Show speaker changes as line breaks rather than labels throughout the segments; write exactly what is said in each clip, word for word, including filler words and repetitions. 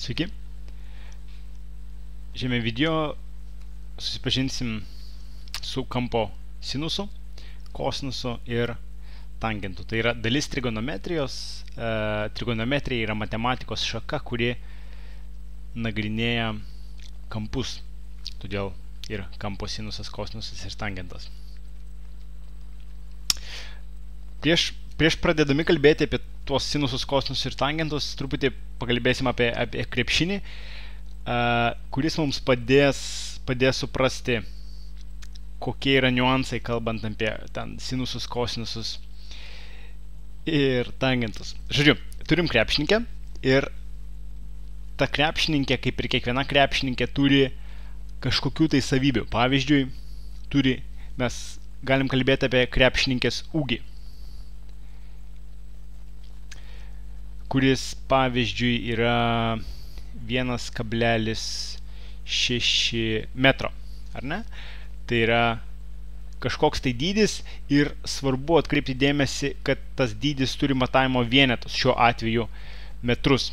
Sveiki. Šiame video susipažinsim su kampo sinusu, kosinusu ir tangentu. Tai yra dalis trigonometrijos. E, trigonometrija yra matematikos šaka, kuri nagrinėja kampus. Todėl ir kampo sinusas, kosinusas ir tangentas. Prieš, prieš pradėdami kalbėti apie tuos sinusus, kosinusus ir tangentus, truputį pakalbėsim apie, apie krepšinį, uh, kuris mums padės, padės suprasti, kokie yra niuansai, kalbant apie ten, sinusus, kosinusus ir tangentus. Žodžiu, turim krepšininkę ir ta krepšininkė, kaip ir kiekviena krepšininkė, turi kažkokių tai savybių. Pavyzdžiui, turi, mes galim kalbėti apie krepšininkės ūgį, kuris, pavyzdžiui, yra vienas kablelis šeši metro, ar ne? Tai yra kažkoks tai dydis ir svarbu atkreipti dėmesį, kad tas dydis turi matavimo vienetus, šiuo atveju metrus.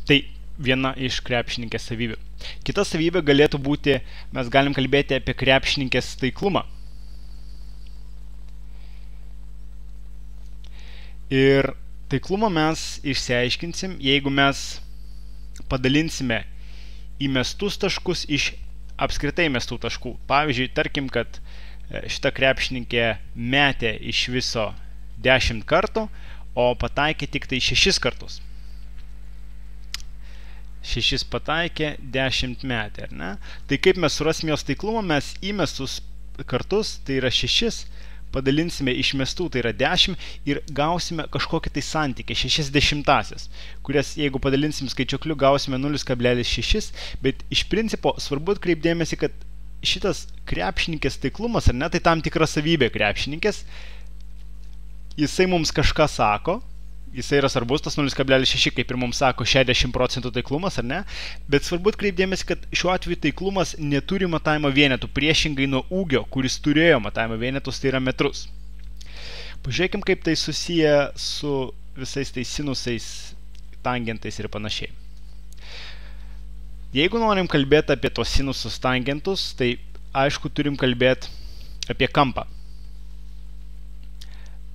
Tai viena iš krepšininkės savybių. Kita savybė galėtų būti, mes galim kalbėti apie krepšininkės taiklumą. Ir taiklumą mes išsiaiškinsim, jeigu mes padalinsime į mestus taškus iš apskritai mestų taškų. Pavyzdžiui, tarkim, kad šita krepšininkė metė iš viso dešimt kartų, o pataikė tik tai šešis kartus. Šešis pataikė, dešimt metė, ar ne? Tai kaip mes surasim jos taiklumą, mes įmestus kartus, tai yra šešis, padalinsime iš mestų, tai yra dešimt, ir gausime kažkokį tai santykį, šešias dešimtasias, kurias jeigu padalinsim skaičiukliu, gausime nulis kablelis šeši, bet iš principo svarbu atkreipdėmėsi, kad šitas krepšininkės taiklumas, ar ne, tai tam tikra savybė krepšininkės, jisai mums kažką sako, jisai yra svarbus, tas nulis kablelis šeši, kaip ir mums sako, šešiasdešimt procentų taiklumas, ar ne? Bet svarbu atkreipdėmėsi, kad šiuo atveju taiklumas neturi matavimo vienetų, priešingai nuo ūgio, kuris turėjo matavimo vienetus, tai yra metrus. Pažiūrėkim, kaip tai susiję su visais tais sinusais, tangentais ir panašiai. Jeigu norim kalbėti apie tos sinusus, tangentus, tai aišku turim kalbėti apie kampą.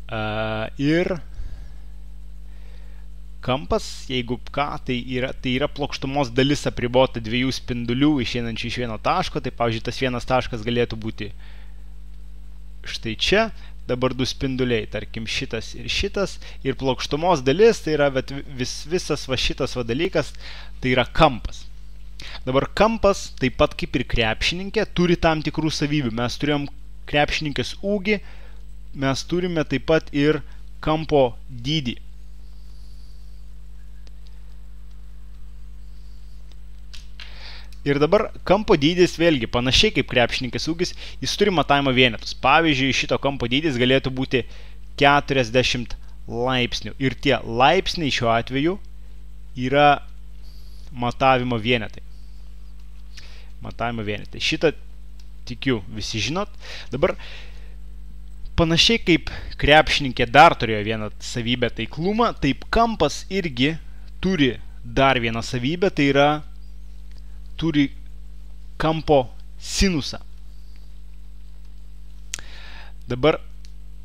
Uh, ir kampas, jeigu ką, tai yra, tai yra plokštumos dalis apribota dviejų spindulių išeinančių iš vieno taško. Tai, pavyzdžiui, tas vienas taškas galėtų būti štai čia, dabar du spinduliai, tarkim šitas ir šitas, ir plokštumos dalis, tai yra vis, visas va šitas va dalykas, tai yra kampas. Dabar kampas, taip pat kaip ir krepšininkė, turi tam tikrų savybių. Mes turėjom krepšininkės ūgį, mes turime taip pat ir kampo dydį. Ir dabar kampo dydis vėlgi, panašiai kaip krepšininkės ūgis, jis turi matavimo vienetus. Pavyzdžiui, šito kampo dydis galėtų būti keturiasdešimt laipsnių. Ir tie laipsniai šiuo atveju yra matavimo vienetai. Matavimo vienetai. Šitą, tikiu, visi žinot. Dabar, panašiai kaip krepšininkė dar turėjo vieną savybę taiklumą, taip kampas irgi turi dar vieną savybę, tai yra turi kampo sinusą. Dabar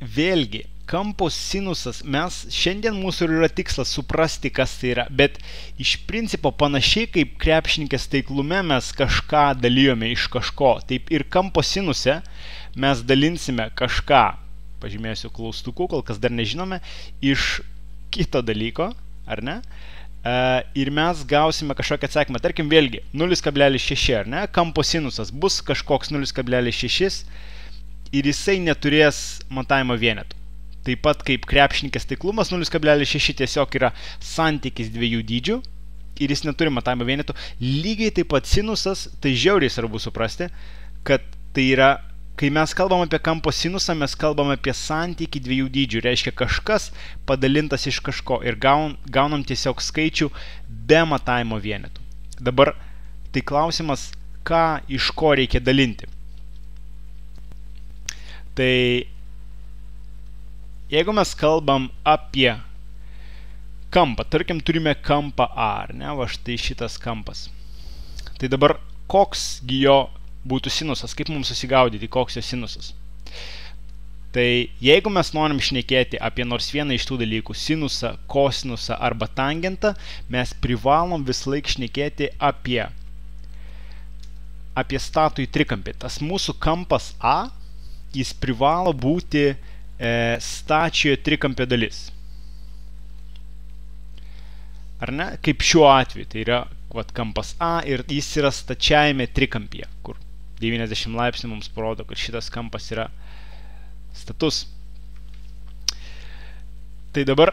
vėlgi, kampo sinusas, mes šiandien mūsų yra tikslas suprasti, kas tai yra, bet iš principo panašiai kaip krepšininkės taiklume mes kažką dalijome iš kažko, taip ir kampo sinuse mes dalinsime kažką, pažymėsiu klaustuku, kol kas dar nežinome, iš kito dalyko, ar ne? Uh, ir mes gausime kažkokį atsakymą. Tarkim, vėlgi, nulis kablelis šeši, ar ne? Kampo sinusas bus kažkoks nulis kablelis šeši ir jisai neturės matavimo vienetų. Taip pat kaip krepšininkės taiklumas, nulis kablelis šeši tiesiog yra santykis dviejų dydžių ir jis neturi matavimo vienetų. Lygiai taip pat sinusas, tai žiauriai svarbu suprasti, kad tai yra, kai mes kalbam apie kampo sinusą, mes kalbam apie santykį dviejų dydžių. Reiškia kažkas padalintas iš kažko ir gaun, gaunam tiesiog skaičių be matavimo vienetų. Dabar tai klausimas, ką iš ko reikia dalinti. Tai jeigu mes kalbam apie kampą. Tarkim, turime kampą A, ar ne? Va štai šitas kampas. Tai dabar koksgi jo būtų sinusas? Kaip mums susigaudyti, koks jo sinusas? Tai jeigu mes norim šnekėti apie nors vieną iš tų dalykų, sinusą, kosinusą arba tangentą, mes privalom vis laik šnekėti apie, apie statųjį trikampį. Tas mūsų kampas A, jis privalo būti e, stačiojo trikampio dalis. Ar ne? Kaip šiuo atveju, tai yra vat, kampas A ir jis yra stačiajame trikampyje, kur devyniasdešimt laipsnių mums parodo, kad šitas kampas yra status. Tai dabar,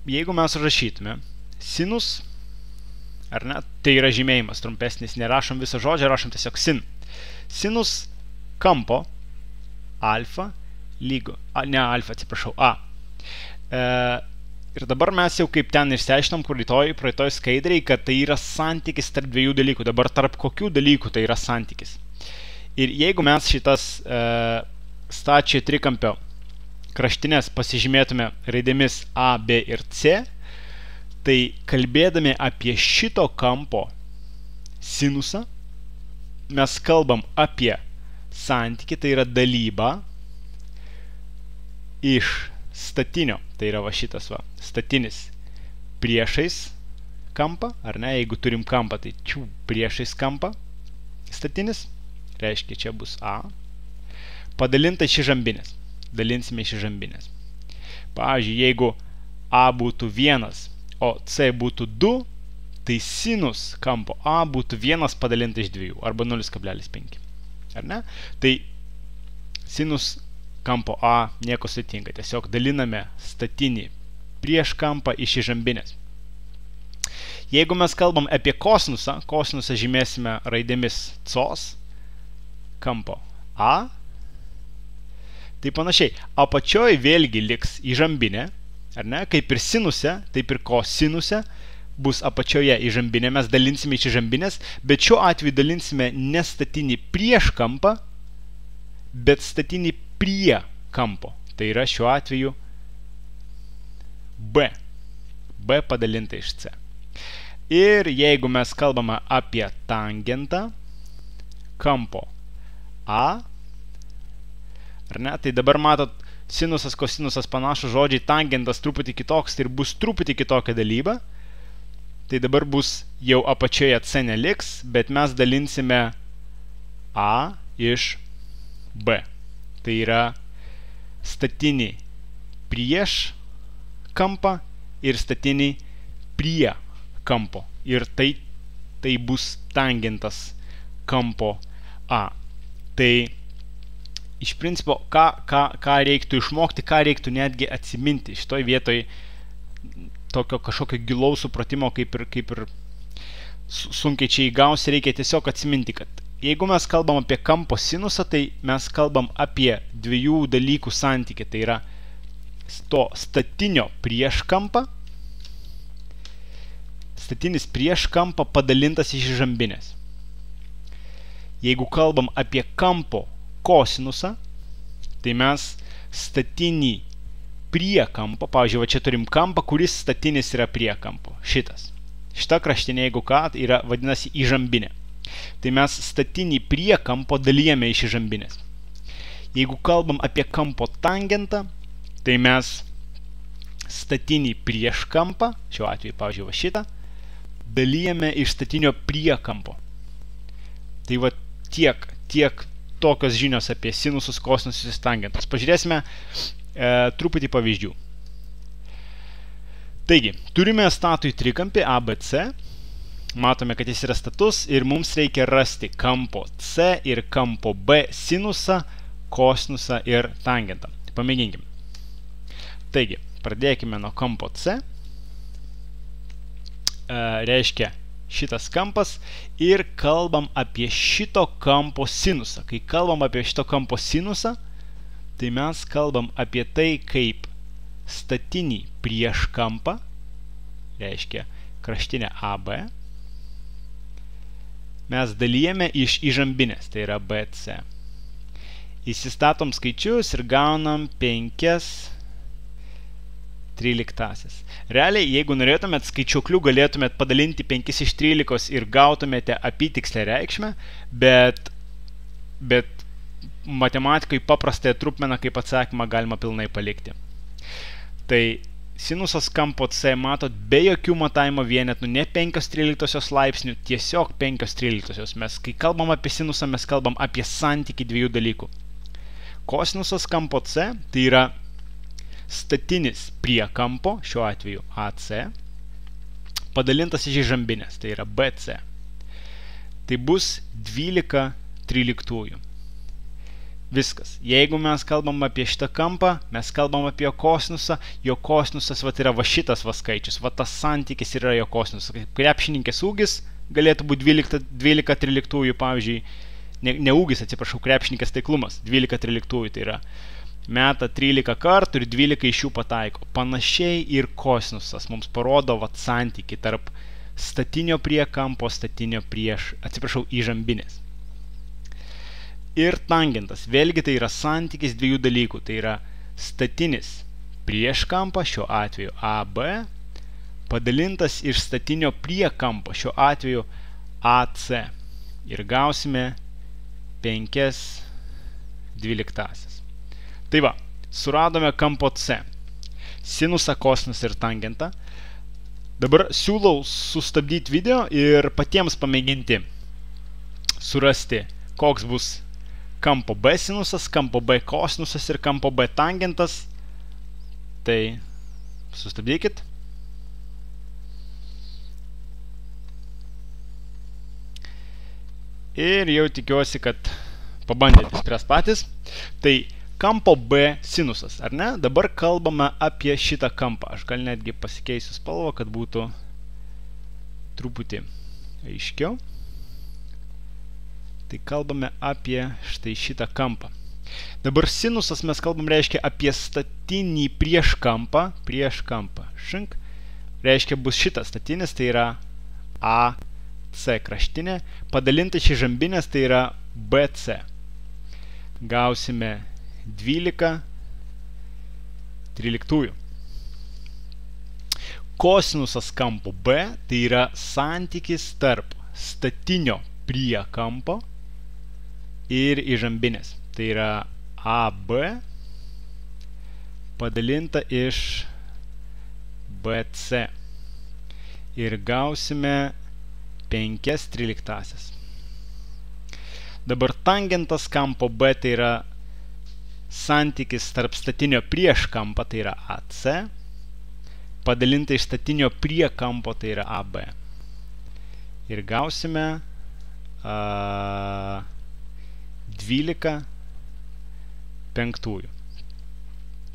jeigu mes rašytume sinus, ar ne, tai yra žymėjimas trumpesnis, nerašom visą žodžią, rašom tiesiog sin. Sinus kampo alfa lygu, a, ne alfa, atsiprašau, A. E, Ir dabar mes jau kaip ten išsiaiškinom, kur rytoj, praeitoj skaidriai, kad tai yra santykis tarp dviejų dalykų. Dabar tarp kokių dalykų tai yra santykis. Ir jeigu mes šitas e, stačiojo trikampio kraštinės pasižymėtume raidėmis A, B ir C, tai kalbėdami apie šito kampo sinusą, mes kalbam apie santykį, tai yra dalybą iš statinio, tai yra va šitas va, statinis priešais kampą, ar ne, jeigu turim kampą, tai čiū, priešais kampą statinis, reiškia čia bus A, padalinta iš žambinės, dalinsime iš žambinės. Pavyzdžiui, jeigu A būtų vienas, o C būtų du, tai sinus kampo A būtų vienas padalinta iš dviejų, arba nulis kablelis penki, ar ne? Tai sinus kampo A nieko sudėtinga, tiesiog daliname statinį prieš kampą iš žambinės. Jeigu mes kalbam apie kosinusą, kosinusą žymėsime raidėmis cos, kampo A, tai panašiai, apačioj vėlgi liks įžambinė, ar ne, kaip ir sinuse, taip ir kosinuse, bus apačioje įžambinė, mes dalinsime iš žambinės, bet šiuo atveju dalinsime ne statinį prieš kampą, bet statinį prie kampo. Tai yra šiuo atveju B. B padalinta iš C. Ir jeigu mes kalbame apie tangentą kampo A, ar ne, tai dabar matot, sinusas, kosinusas panašus žodžiai, tangentas truputį kitoks, tai ir bus truputį kitokia dalyba. Tai dabar bus jau apačioje C neliks, bet mes dalinsime A iš B. Tai yra statinį prieš kampą ir statinį prie kampo. Ir tai, tai bus tangentas kampo A. Tai iš principo, ką, ką, ką reiktų išmokti, ką reiktų netgi atsiminti. Šitoj vietoj tokio kažkokio gilaus supratimo, kaip ir, kaip ir sunkiai čia įgausi, reikia tiesiog atsiminti, kad jeigu mes kalbam apie kampo sinusą, tai mes kalbam apie dviejų dalykų santykį. Tai yra to statinio prieš kampą, statinis prieš kampą padalintas iš žambinės. Jeigu kalbam apie kampo kosinusą, tai mes statinį prie kampo, pavyzdžiui, va čia turim kampą, kuris statinis yra prie kampo. Šitas. Šita kraštinė, jeigu ką, yra vadinasi įžambinė. Tai mes statinį prie kampo dalijame iš žambinės. Jeigu kalbam apie kampo tangentą, tai mes statinį prieš kampą, šiuo atveju, pavyzdžiui, va šitą, dalijame iš statinio prie kampo. Tai va tiek, tiek tokios žinios apie sinusus, kosinus ir tangentus. Pažiūrėsime e, truputį pavyzdžių. Taigi, turime statųjį trikampį A B C. Matome, kad jis yra status ir mums reikia rasti kampo C ir kampo B sinusą, kosinusą ir tangentą. Pamėginkim. Taigi, pradėkime nuo kampo C. E, reiškia šitas kampas ir kalbam apie šito kampo sinusą. Kai kalbam apie šito kampo sinusą, tai mes kalbam apie tai, kaip statinį prieš kampą, reiškia kraštinę A B, mes dalijame iš įžambinės, tai yra B C. Įsistatom skaičius ir gaunam penkias tryliktasis. Realiai, jeigu norėtumėt skaičiuklių, galėtumėt padalinti penkis iš trylikos ir gautumėte apytikslę reikšmę, bet, bet matematikai paprastąją trupmeną kaip atsakymą galima pilnai palikti. Tai sinusas kampo C, matot, be jokių matavimo vienetų, ne penkios tryliktosios laipsnių, tiesiog penkios tryliktosios. Mes, kai kalbam apie sinusą, mes kalbam apie santykį dviejų dalykų. Kosinusas kampo C, tai yra statinis prie kampo, šiuo atveju A C, padalintas iš žambinės, tai yra B C. Tai bus dvylika tryliktųjų. Viskas. Jeigu mes kalbam apie šitą kampą, mes kalbam apie jo kosinusą, jo kosinusas vat, yra va šitas va skaičius, va tas santykis yra jo kosinusas. Krepšininkės ūgis galėtų būti dvylika tryliktųjų, pavyzdžiui, ne, ne ūgis, atsiprašau, krepšininkės taiklumas, dvylika tryliktųjų, tai yra meta trylika kartų ir dvylika iš jų pataiko. Panašiai ir kosinusas mums parodo vat santykį tarp statinio prie kampo, statinio prieš, atsiprašau, įžambinės. Ir tangentas, vėlgi tai yra santykis dviejų dalykų, tai yra statinis prieš kampą, šiuo atveju A B, padalintas iš statinio prie kampo, šiuo atveju A C. Ir gausime penkias dvyliktasis. Tai va, suradome kampo C, sinusą, kosinusą ir tangentą. Dabar siūlau sustabdyti video ir patiems pamėginti surasti, koks bus kampo B sinusas, kampo B kosinusas ir kampo B tangentas. Tai sustabdykit. Ir jau tikiuosi, kad pabandėte spręs patys. Tai kampo B sinusas, ar ne? Dabar kalbame apie šitą kampą. Aš gal netgi pasikeisiu spalvą, kad būtų truputį aiškiau. Tai kalbame apie štai šitą kampą. Dabar sinusas mes kalbam reiškia apie statinį prieš kampą, prieš kampą. Šink. Reiškia bus šitas statinis, tai yra A C kraštinė, padalinta iš žambinės, tai yra B C. Gausime dvylika tryliktųjų. Kosinusas kampo B, tai yra santykis tarp statinio prie kampo ir įžambinės. Tai yra A B padalinta iš B C. Ir gausime penkias tryliktąsias. Dabar tangentas kampo B, tai yra santykis tarp statinio prieš kampą, tai yra A C, padalinta iš statinio prie kampo, tai yra A B. Ir gausime a, dvylika penktųjų.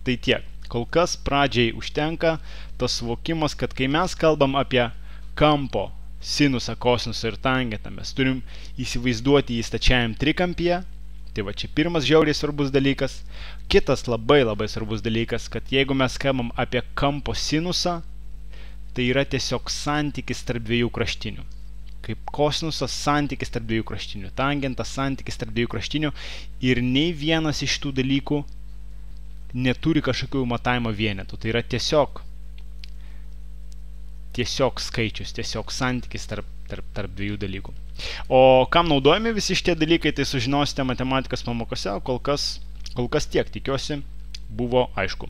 Tai tiek. Kol kas pradžiai užtenka tas suvokimas, kad kai mes kalbam apie kampo, sinusą, kosinusą ir tangentą, mes turim įsivaizduoti jį stačiajam trikampyje. Tai va čia pirmas žiauriai svarbus dalykas. Kitas labai labai svarbus dalykas, kad jeigu mes kalbam apie kampo sinusą, tai yra tiesiog santykis tarp dviejų kraštinių. Kaip kosinusas santykis tarp dviejų kraštinių, tangentas santykis tarp dviejų kraštinių ir nei vienas iš tų dalykų neturi kažkokių matavimo vienetų. Tai yra tiesiog tiesiog skaičius, tiesiog santykis tarp, tarp, tarp dviejų dalykų. O kam naudojami visi šitie dalykai, tai sužinosite matematikos pamokose, o kol kas, kol kas tiek, tikiuosi, buvo aišku.